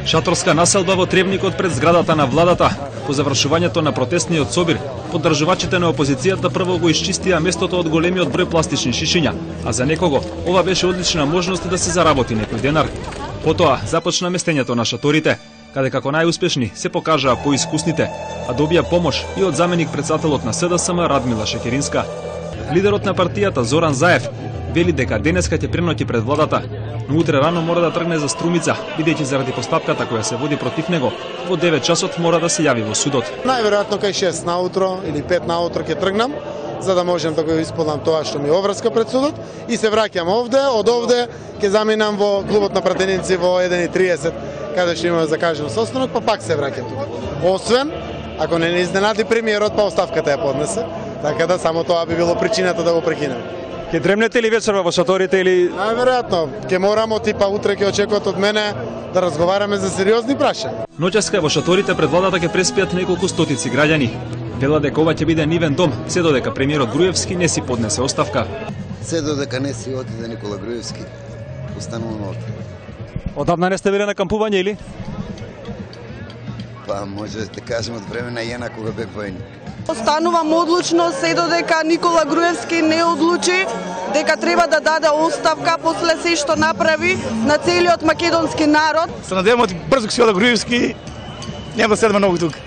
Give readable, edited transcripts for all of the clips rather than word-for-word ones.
Шаторска населба во Тревникот пред зградата на владата. По завршувањето на протестниот собир, поддржувачите на опозицијата прво го исчистија местото од големиот број пластични шишиња, а за некого ова беше одлична можност да се заработи некој денар. Потоа започна местењето на шаторите, каде како најуспешни се покажаа поискусните, а добија помош и од заменик председателот на СДСМ Радмила Шекеринска. Лидерот на партијата Зоран Заев вели дека денеска ќе преноќи пред владата, но утре рано мора да тргне за Струмица, бидејќи заради постапката која се води против него, во 9 часот мора да се јави во судот. Најверојатно кај 6 наутро или 5 наутро ќе тргнам, за да можам да го исполнам тоа што ми обврска пред судот и се враќам овде, од овде ќе заминам во клубот на пратеници во 1:30, каде што имаме закажан состанок, па пак се враќам тука. Освен ако не изненади премиерот, па оставката ја поднесе, така да само тоа би било причината да го прекинем. Ке дремнете ли вечерва во шаторите или? Најверојатно, ќе морамо типа утре ќе очекуваат од мене да разговараме за сериозни прашања. Ноќаска во шаторите пред владата ќе преспијат неколку стотици граѓани. Вела дека ова ќе биде нивен дом, се додека премиерот Груевски не си поднесе оставка. Се додека не си отиде Никола Груевски, остануваме овде. Одамна не сте биле на кампување или? Па може да кажем од време на Јена кога бев војник. Останувам одлучно се додека Никола Груевски не одлучи дека треба да даде оставка после се што направи на целиот македонски народ. Се надевам брзо ќе се ода Груевски, нема да седаме многу тука.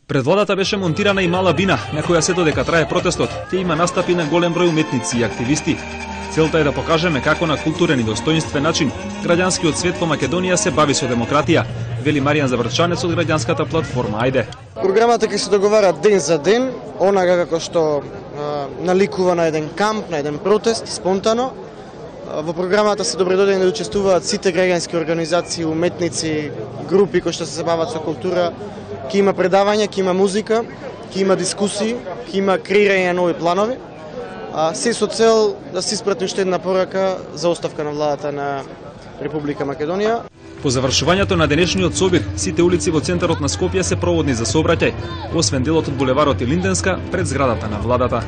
Пред владата беше монтирана и мала бина, на која се додека трае протестот, ќе има настапи на голем број уметници и активисти. Целта е да покажеме како на културен и достоинствен начин граѓанскиот свет во Македонија се бави со демократија, вели Маријан Заврчанец од граѓанската платформа Ајде. Програмата ќе се договара ден за ден, онага како што наликува на еден камп, на еден протест, спонтано. Во програмата се добредодени да учествуваат сите граѓански организации, уметници, групи кои што се бават со култура. Ќе има предавања, ќе има музика, ќе има дискусии, ќе има креирање на нови планови. Се со цел да се испрати уште една порака за оставка на владата на Република Македонија. По завршувањето на денешниот собир, сите улици во центарот на Скопје се проводни за сообраќај, освен делот од булеварот и Линденска пред зградата на владата.